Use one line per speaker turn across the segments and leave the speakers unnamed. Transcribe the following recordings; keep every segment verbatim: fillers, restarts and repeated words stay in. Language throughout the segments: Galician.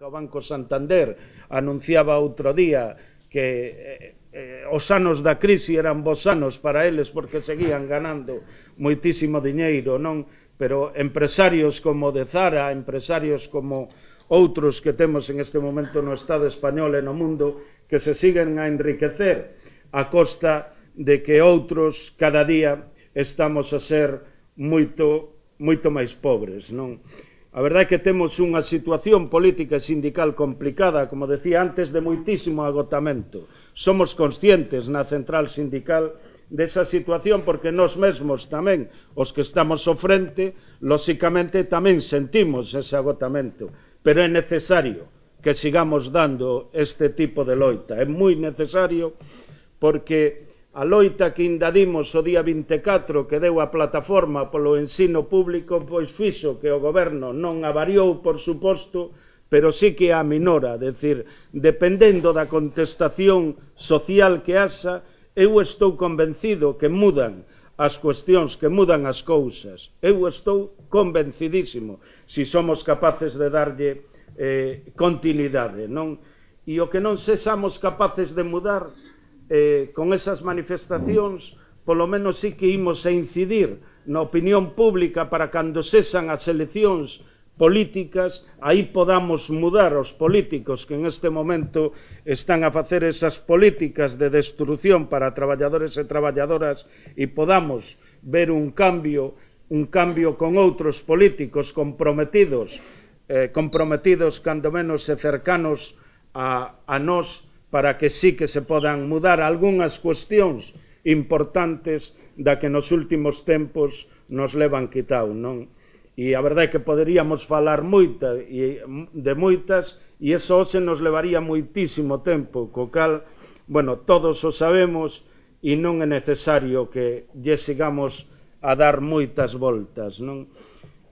O Banco Santander anunciaba outro día que eh, os anos da crise eran bons anos para eles porque seguían ganando moitísimo diñeiro, non? Pero empresarios como de Zara, empresarios como outros que temos en este momento no Estado español e no mundo, que se siguen a enriquecer a costa de que outros cada día estamos a ser moito, moito máis pobres, non? A verdade é que temos unha situación política e sindical complicada, como decía antes, de moitísimo agotamento. Somos conscientes na central sindical desa situación porque nós mesmos tamén, os que estamos ao frente, lóxicamente tamén sentimos ese agotamento, pero é necesario que sigamos dando este tipo de loita. É moi necesario porque a loita que indadimos o día vinte e catro que deu a plataforma polo ensino público pois fixo que o goberno non avariou, por suposto, pero sí que a minora, decir, dependendo da contestación social que haxa, eu estou convencido que mudan as cuestións, que mudan as cousas. Eu estou convencidísimo se somos capaces de darlle eh, continuidade, non? E o que non sexamos capaces de mudar Eh, con esas manifestacións, polo menos sí que imos a incidir na opinión pública para cando sexan as eleccións políticas, aí podamos mudar os políticos que en este momento están a facer esas políticas de destrucción para traballadores e traballadoras e podamos ver un cambio, un cambio con outros políticos comprometidos, eh, comprometidos cando menos e cercanos a, a nós, para que sí que se podan mudar algunhas cuestións importantes da que nos últimos tempos nos levan quitado, non? E a verdade é que poderíamos falar moita de moitas e eso se nos levaría moitísimo tempo, co cal, bueno, todos o sabemos e non é necesario que lle sigamos a dar moitas voltas, non?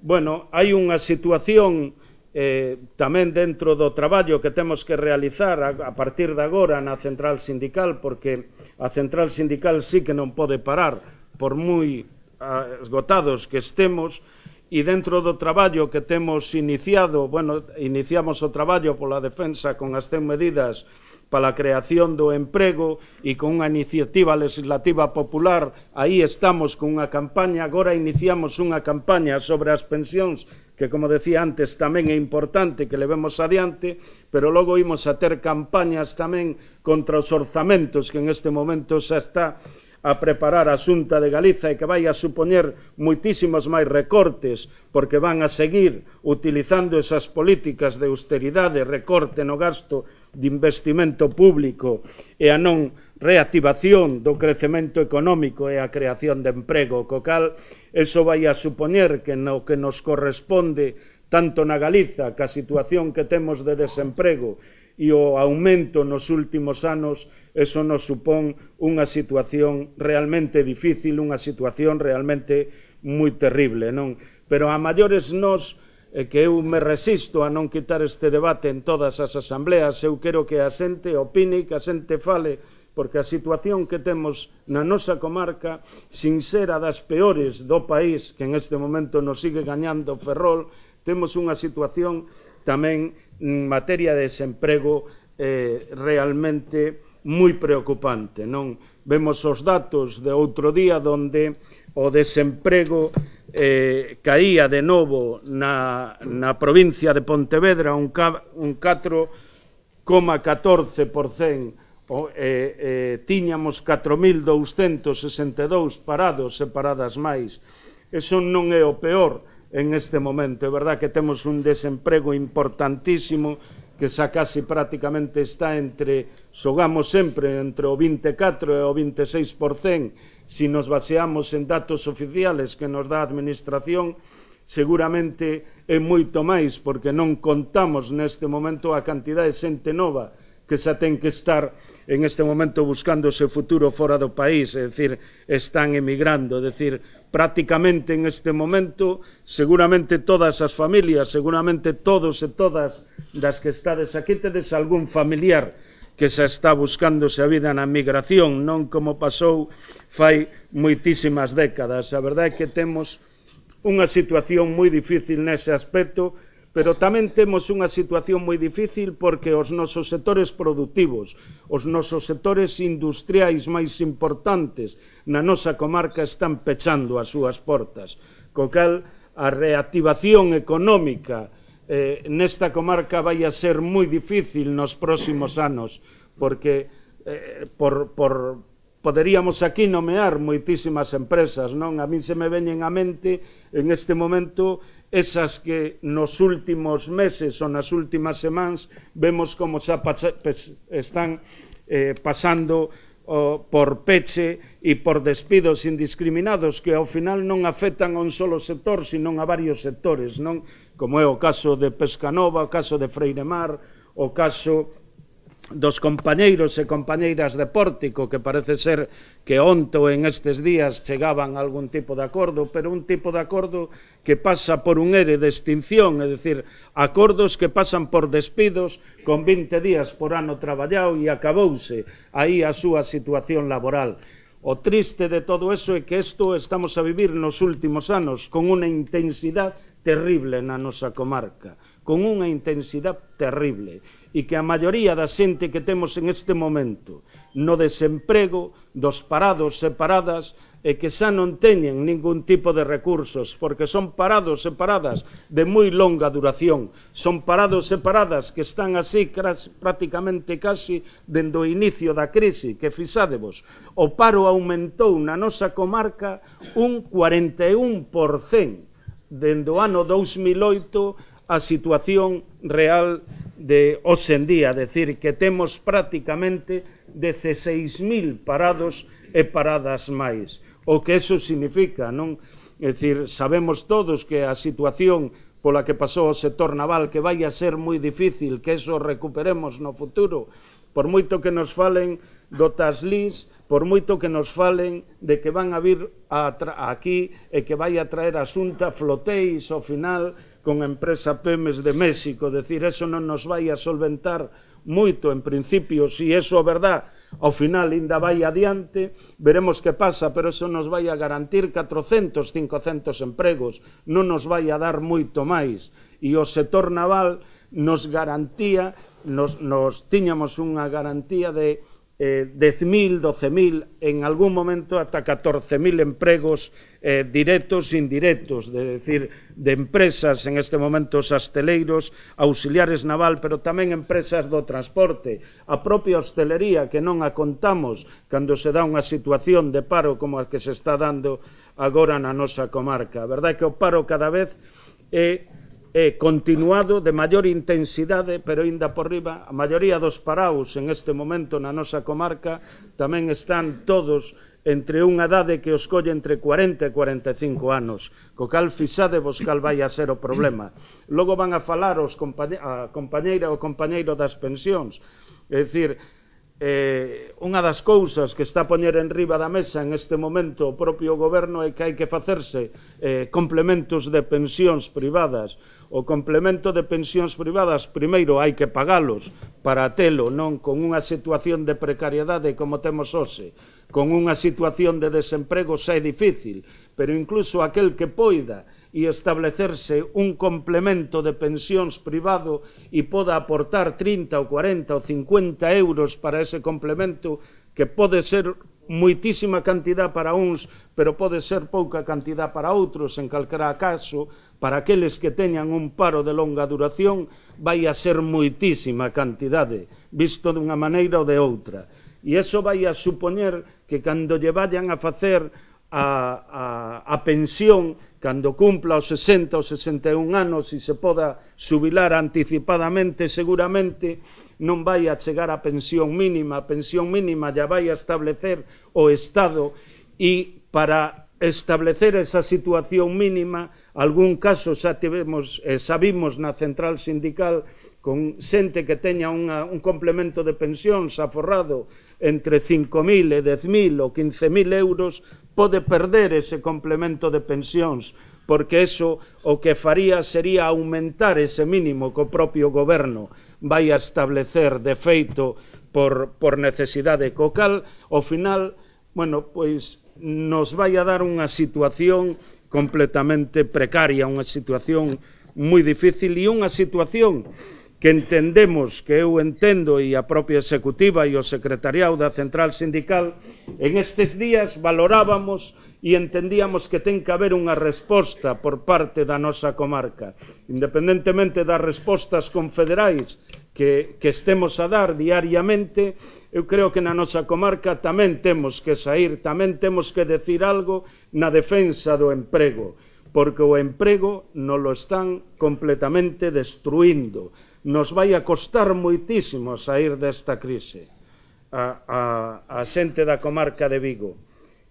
Bueno, hai unha situación Eh, tamén dentro do traballo que temos que realizar a, a partir de agora na central sindical, porque a central sindical sí que non pode parar por moi ah, esgotados que estemos, e dentro do traballo que temos iniciado, bueno, iniciamos o traballo pola defensa con as cen medidas para a creación do emprego e con unha iniciativa legislativa popular, aí estamos con unha campaña, agora iniciamos unha campaña sobre as pensións que, como decía antes, tamén é importante que levemos adiante, pero logo imos a ter campañas tamén contra os orzamentos que en este momento xa está a preparar a Xunta de Galiza e que vai a supoñer moitísimos máis recortes porque van a seguir utilizando esas políticas de austeridade, recorte no gasto de investimento público e a non reactivación do crecemento económico e a creación de emprego, co cal eso vai a supoñer que no que nos corresponde tanto na Galiza, que a situación que temos de desemprego e o aumento nos últimos anos, eso nos supón unha situación realmente difícil, unha situación realmente moi terrible, non? Pero a maiores nós, eh, que eu me resisto a non quitar este debate en todas as asambleas, eu quero que a xente opine, que a xente fale, porque a situación que temos na nosa comarca, sin ser a das peores do país, que en este momento nos sigue gañando Ferrol, temos unha situación tamén en materia de desemprego eh, realmente moi preocupante, non? Vemos os datos de outro día onde o desemprego eh, caía de novo na, na provincia de Pontevedra un, un catro coma catorce por cento. O, eh, eh, tiñamos catro mil douscentos sesenta e dous parados e paradas máis. Eso non é o peor en este momento. É verdad que temos un desemprego importantísimo que xa casi prácticamente está entre, xogamos sempre entre o vinte e catro e o vinte e seis por cento. Si nos baseamos en datos oficiales que nos dá a Administración, seguramente é moito máis porque non contamos neste momento a cantidad de xente nova que xa ten que estar en este momento buscando o seu futuro fora do país, é dicir, están emigrando, é dicir, prácticamente en este momento, seguramente todas as familias, seguramente todos e todas das que estades aquí, tedes algún familiar que xa está buscándose a vida na migración, non como pasou fai moitísimas décadas. A verdade é que temos unha situación moi difícil nese aspecto, pero tamén temos unha situación moi difícil porque os nosos sectores productivos, os nosos sectores industriais máis importantes na nosa comarca están pechando as súas portas, co cal a reactivación económica eh, nesta comarca vai a ser moi difícil nos próximos anos, porque eh, por, por, poderíamos aquí nomear moitísimas empresas, non? A min se me veñen á mente en este momento esas que nos últimos meses ou nas últimas semanas vemos como xa están eh, pasando oh, por peche e por despidos indiscriminados que ao final non afectan a un solo sector, sino a varios sectores, non? Como é o caso de Pescanova, o caso de Freiremar, o caso dos compañeiros e compañeiras de Pórtico, que parece ser que onte ou en estes días chegaban a algún tipo de acordo, pero un tipo de acordo que pasa por un ere de extinción, é dicir, acordos que pasan por despidos con vinte días por ano traballado e acabouse aí a súa situación laboral. O triste de todo eso é que isto estamos a vivir nos últimos anos con unha intensidade terrible na nosa comarca, con unha intensidade terrible, e que a maioría da xente que temos en este momento no desemprego, dos parados e paradas, e que xa non teñen ningún tipo de recursos, porque son parados e paradas de moi longa duración, son parados e paradas que están así prácticamente casi dende o inicio da crise, que fixádevos, o paro aumentou na nosa comarca un cuarenta e un por cento dende o ano dous mil oito a situación real de hoxe en día, decir, que temos prácticamente dezseis mil parados e paradas máis. O que eso significa, non? É dicir, sabemos todos que a situación pola que pasou o sector naval, que vai a ser moi difícil que eso recuperemos no futuro, por moito que nos falen do Taslís, por moito que nos falen de que van a vir a aquí e que vai a traer a Xunta flotéis ao final con a empresa Pemex de México, decir, eso non nos vai a solventar moito en principio, se iso é verdad, ao final ainda vai adiante, veremos que pasa, pero eso nos vai a garantir catrocentos, cincocentos empregos, non nos vai a dar moito máis, e o sector naval nos garantía, nos, nos tiñamos unha garantía de Eh, dez mil, doce mil, en algún momento ata catorce mil empregos eh, directos e indirectos, de decir, de empresas, en este momento os asteleiros, auxiliares naval, pero tamén empresas do transporte, a propia hostelería, que non a contamos cando se dá unha situación de paro como a que se está dando agora na nosa comarca. A verdade é que o paro cada vez é é continuado de maior intensidade, pero ainda por riba, a maioría dos parados en este momento na nosa comarca tamén están todos entre unha idade que os colle entre cuarenta e cuarenta e cinco anos, co cal fixadevos cal vai a ser o problema. Logo van a falar os compañe a compañeira ou compañeiro das pensións, é dicir, Eh, unha das cousas que está a poñer en riba da mesa en este momento o propio goberno é que hai que facerse eh, complementos de pensións privadas. O complemento de pensións privadas primeiro hai que pagalos para telo, non con unha situación de precariedade como temos hoxe, con unha situación de desemprego xa é difícil, pero incluso aquel que poida e establecerse un complemento de pensións privado e poda aportar trinta ou cuarenta ou cincuenta euros para ese complemento, que pode ser moitísima cantidad para uns, pero pode ser pouca cantidad para outros, en calquera caso, para aqueles que teñan un paro de longa duración, vai a ser moitísima cantidade, visto dunha maneira ou de outra. E iso vai a supoñer que cando lle vayan a facer a, a, a pensión, cando cumpla os sesenta ou sesenta e un anos e se poda xubilar anticipadamente, seguramente non vai a chegar a pensión mínima. A pensión mínima ya vai a establecer o Estado, e para establecer esa situación mínima, algún caso xa tivemos, eh, sabimos na central sindical, con xente que teña unha, un complemento de pensións aforrado entre cinco mil e dez mil ou quince mil euros, pode perder ese complemento de pensións, porque eso o que faría sería aumentar ese mínimo que o propio goberno vai a establecer de feito por, por necesidade, co cal, ao final, bueno, pois nos vai a dar unha situación completamente precaria, unha situación moi difícil e unha situación que entendemos, que eu entendo e a propia executiva e o secretariado da Central Sindical, en estes días valorábamos e entendíamos que ten que haber unha resposta por parte da nosa comarca, independentemente das respostas confederais que, que estemos a dar diariamente. Eu creo que na nosa comarca tamén temos que sair, tamén temos que decir algo na defensa do emprego, porque o emprego nos lo están completamente destruindo. Nos vai a costar moitísimo sair desta crise a, a, a xente da comarca de Vigo.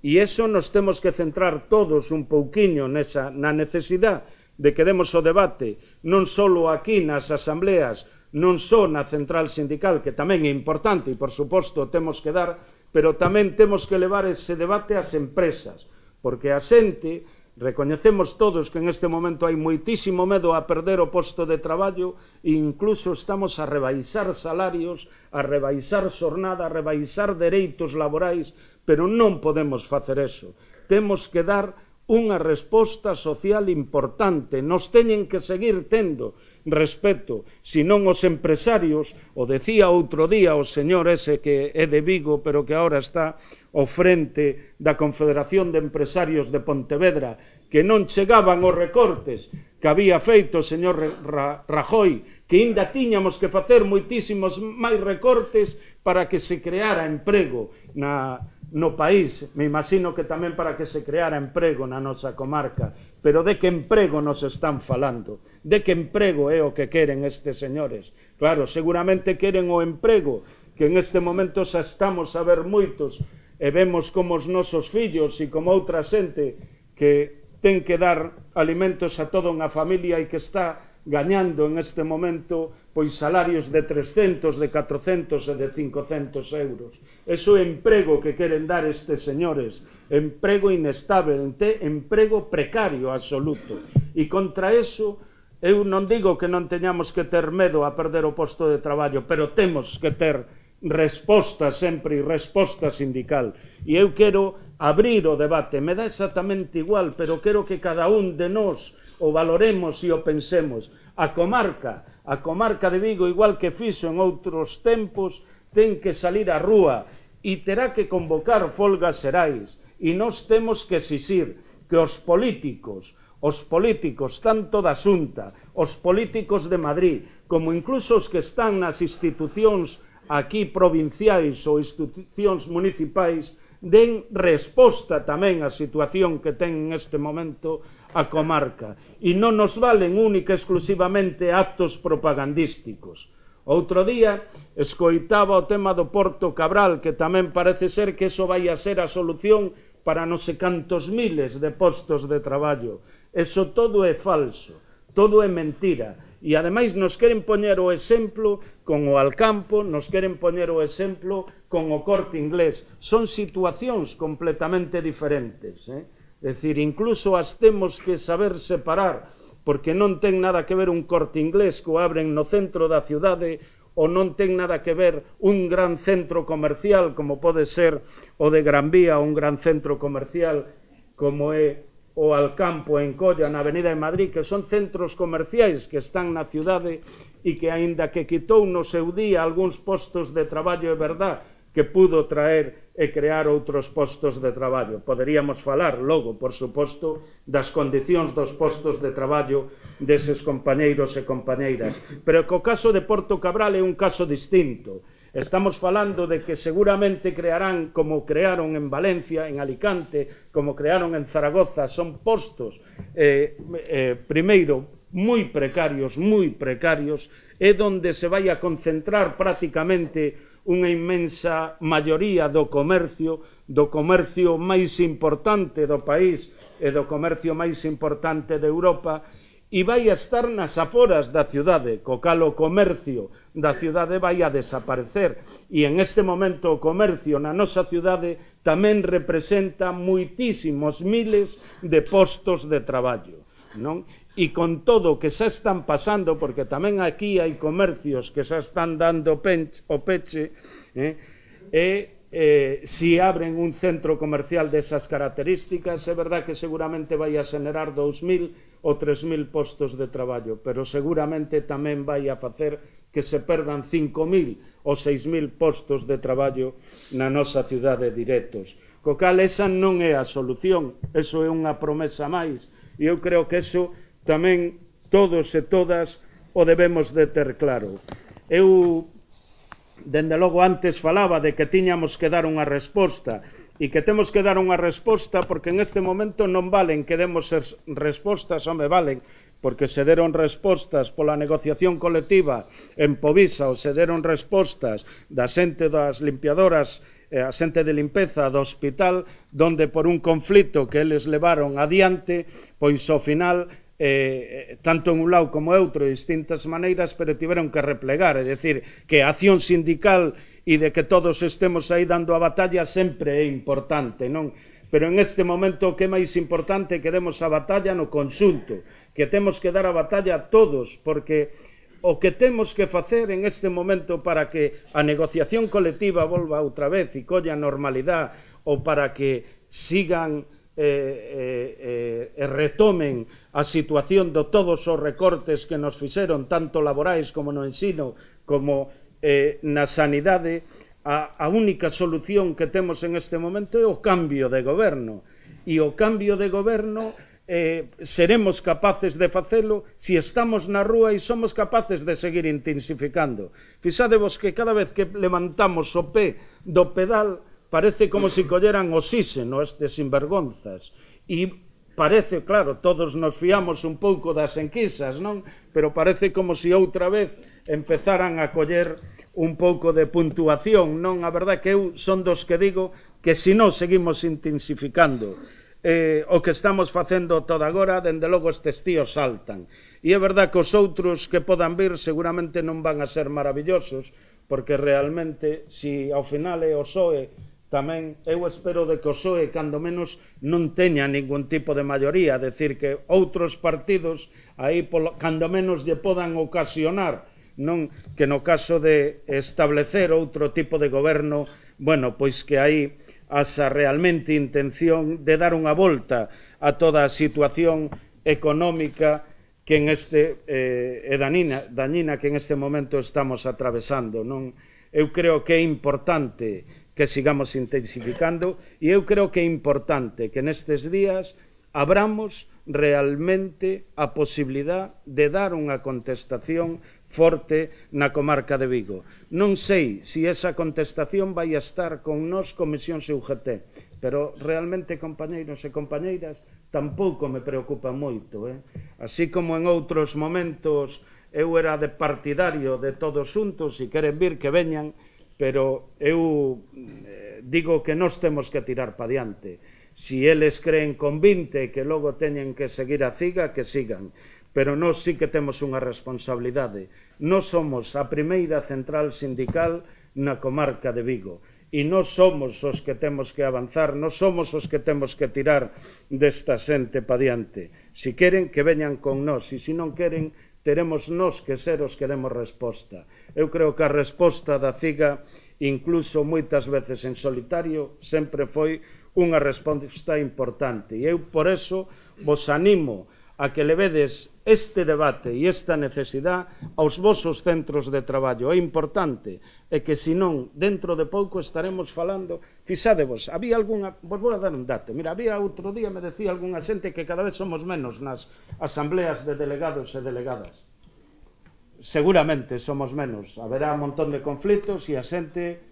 E iso nos temos que centrar todos un pouquiño nesa, na necesidade de que demos o debate, non só aquí nas asambleas, non só na Central Sindical, que tamén é importante e, por suposto, temos que dar, pero tamén temos que levar ese debate ás empresas, porque a xente, recoñecemos todos que en este momento hai moitísimo medo a perder o posto de traballo e incluso estamos a rebaixar salarios, a rebaixar xornada, a rebaixar dereitos laborais, pero non podemos facer eso. Temos que dar unha resposta social importante, nos teñen que seguir tendo respeto, senón os empresarios, o decía outro día o señor ese que é de Vigo, pero que agora está ao frente da Confederación de Empresarios de Pontevedra, que non chegaban os recortes que había feito o señor Rajoy, que ainda tiñamos que facer moitísimos máis recortes para que se creara emprego na, no país. Me imagino que tamén para que se creara emprego na nosa comarca. Pero de que emprego nos están falando? De que emprego é o que queren estes señores? Claro, seguramente queren o emprego que en este momento xa estamos a ver moitos e vemos como os nosos fillos e como outra xente que ten que dar alimentos a toda unha familia e que está gañando en este momento pois salarios de trescentos, de catrocentos e de cincocentos euros. Eso é emprego que queren dar estes señores, emprego inestable, emprego precario absoluto. E contra eso, eu non digo que non teñamos que ter medo a perder o posto de traballo, pero temos que ter resposta sempre, resposta sindical. E eu quero abrir o debate, me dá exactamente igual, pero quero que cada un de nós o valoremos e o pensemos. A comarca, a comarca de Vigo, igual que fixo en outros tempos, ten que salir á rúa e terá que convocar folgas xerais. E nós temos que exixir que os políticos, os políticos tanto da Xunta, os políticos de Madrid, como incluso os que están nas institucións aquí provinciais ou institucións municipais, den resposta tamén á situación que ten neste momento a comarca. E non nos valen única e exclusivamente actos propagandísticos. Outro día escoitaba o tema do Porto Cabral, que tamén parece ser que eso vai a ser a solución para non sei cantos miles de postos de traballo. Eso todo é falso, todo é mentira. E ademais nos queren poñer o exemplo con o Alcampo, nos queren poñer o exemplo con o Corte Inglés. Son situacións completamente diferentes. Eh? É dicir, incluso as temos que saber separar, porque non ten nada que ver un Corte Inglés que o abren no centro da cidade, ou non ten nada que ver un gran centro comercial como pode ser o de Gran Vía, ou un gran centro comercial como é o Alcampo en Colla, na Avenida de Madrid, que son centros comerciais que están na cidade e que, aínda que quitou no seu día algúns postos de traballo, é verdad que pudo traer e crear outros postos de traballo. Poderíamos falar logo, por suposto, das condicións dos postos de traballo deses compañeiros e compañeiras. Pero que o caso de Porto Cabral é un caso distinto. Estamos falando de que seguramente crearán, como crearon en Valencia, en Alicante, como crearon en Zaragoza, son postos, eh, eh, primeiro, moi precarios, moi precarios, é onde se vai a concentrar prácticamente unha inmensa maioría do comercio, do comercio máis importante do país e do comercio máis importante de Europa, e vai a estar nas aforas da cidade, co cal o comercio da cidade vai a desaparecer. E en este momento o comercio na nosa cidade tamén representa moitísimos miles de postos de traballo, non? E con todo o que xa están pasando, porque tamén aquí hai comercios que xa están dando o peche, eh, e eh, si abren un centro comercial desas características, é verdad que seguramente vai a xenerar dous mil ou tres mil postos de traballo, pero seguramente tamén vai a facer que se perdan cinco mil ou seis mil postos de traballo na nosa cidade directos. Co cal, esa non é a solución, eso é unha promesa máis, e eu creo que eso tamén todos e todas o debemos de ter claro. Eu, dende logo, antes falaba de que tiñamos que dar unha resposta, e que temos que dar unha resposta porque en este momento non valen que demos respostas, home, valen, porque se deron respostas pola negociación colectiva en Povisa, ou se deron respostas da xente das limpiadoras, a xente de limpeza do hospital, donde por un conflito que eles levaron adiante, pois ao final, eh, tanto en un lado como en outro, de distintas maneiras, pero tiveron que replegar, é dicir, que a acción sindical e de que todos estemos aí dando a batalla sempre é importante, non? Pero en este momento o que é máis importante é que demos a batalla no conxunto, que temos que dar a batalla a todos, porque o que temos que facer en este momento para que a negociación colectiva volva outra vez e colla normalidade, ou para que sigan e eh, eh, eh, retomen a situación de todos os recortes que nos fixeron, tanto laborais como no ensino, como eh, na sanidade, a, a única solución que temos en este momento é o cambio de goberno. E o cambio de goberno eh, seremos capaces de facelo se estamos na rúa e somos capaces de seguir intensificando. Fixadevos que cada vez que levantamos o pé do pedal parece como se colleran oxíxeno estes sinvergonzas. E parece, claro, todos nos fiamos un pouco das enquisas, non? Pero parece como se outra vez empezaran a coller un pouco de puntuación, non? A verdade que eu son dos que digo que se non seguimos intensificando eh, o que estamos facendo todo agora, dende logo estes tíos saltan. E é verdade que os outros que podan vir seguramente non van a ser maravillosos, porque realmente, se ao final é o P S O E, tamén eu espero de que o P S O E, cando menos, non teña ningún tipo de maioría, é dicir, que outros partidos aí, cando menos, lle podan ocasionar, non que no caso de establecer outro tipo de goberno, bueno, pois que aí asa realmente intención de dar unha volta a toda a situación económica que en este, eh, é dañina, dañina que en este momento estamos atravesando, non? Eu creo que é importante que sigamos intensificando e eu creo que é importante que nestes días abramos realmente a posibilidad de dar unha contestación forte na comarca de Vigo. Non sei se esa contestación vai a estar con nós Comisións e U G T, pero realmente, compañeiros e compañeiras, tampouco me preocupa moito. Eh? Así como en outros momentos eu era de partidario de todos xuntos e queren vir que veñan, pero eu eh, digo que nós temos que tirar pa diante. Si eles creen con vinte que logo teñen que seguir a ciga, que sigan. Pero nós sí que temos unha responsabilidade. Nós somos a primeira central sindical na comarca de Vigo. E nós somos os que temos que avanzar, nós somos os que temos que tirar desta xente pa diante. Si queren, que veñan con nós. E se non queren, teremos nós que ser os que demos resposta. Eu creo que a resposta da ciga, incluso moitas veces en solitario, sempre foi unha resposta importante. E eu, por eso, vos animo a que levedes este debate e esta necesidade aos vosos centros de traballo. É importante, e que senón, dentro de pouco estaremos falando, fixadevos, había algunha, vos vou a dar un dato, mira, había outro día, me decía algunha xente que cada vez somos menos nas asambleas de delegados e delegadas. Seguramente somos menos, haberá un montón de conflitos e a xente,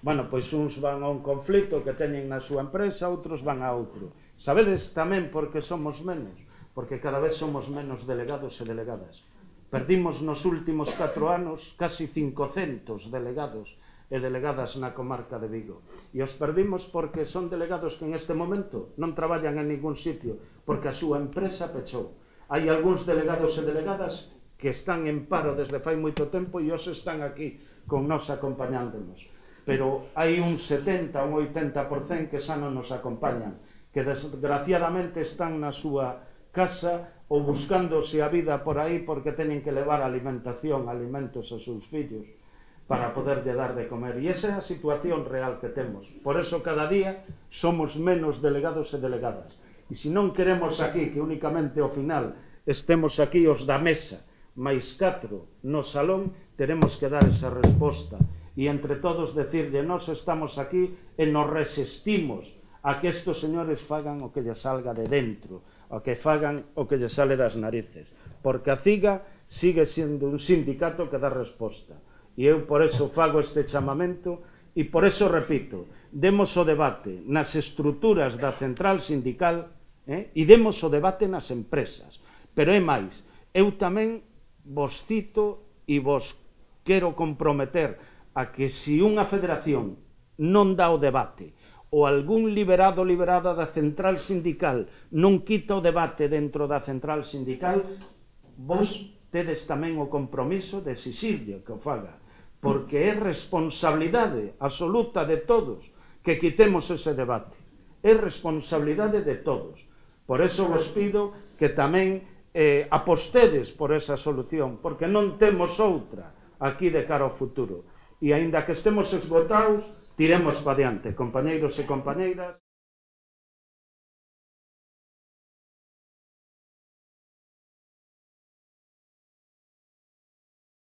bueno, pois uns van a un conflito que teñen na súa empresa, outros van a outro. Sabedes tamén por que somos menos? Porque cada vez somos menos delegados e delegadas. Perdimos nos últimos catro anos casi cincocentos delegados e delegadas na comarca de Vigo. E os perdimos porque son delegados que en este momento non traballan en ningún sitio, porque a súa empresa pechou. Hai algúns delegados e delegadas que están en paro desde fai moito tempo e os están aquí con nós acompañándonos. Pero hai un setenta, un oitenta por cento que xa non nos acompañan, que desgraciadamente están na súa casa ou buscándose a vida por aí porque teñen que levar alimentación, alimentos aos seus fillos para poderlle dar de comer. E esa é a situación real que temos. Por eso cada día somos menos delegados e delegadas. E se non queremos aquí que únicamente ao final estemos aquí os da mesa, máis catro no salón, teremos que dar esa resposta. E entre todos decirle, nós estamos aquí e nos resistimos a que estes señores fagan o que lle salga de dentro, o que fagan o que lle sale das narices. Porque a CIGA sigue sendo un sindicato que dá resposta. E eu por eso fago este chamamento e por eso repito, demos o debate nas estruturas da central sindical eh, e demos o debate nas empresas. Pero é máis, eu tamén vos cito e vos quero comprometer a que se unha federación non dá o debate ou algún liberado ou liberada da central sindical non quita o debate dentro da central sindical, vos tedes tamén o compromiso de exixirlle que o faga, porque é responsabilidade absoluta de todos que quitemos ese debate. É responsabilidade de todos. Por eso vos pido que tamén eh, apostedes por esa solución, porque non temos outra aquí de cara ao futuro. E aínda que estemos esgotados, tiremos para diante, compañeiros e compañeiras.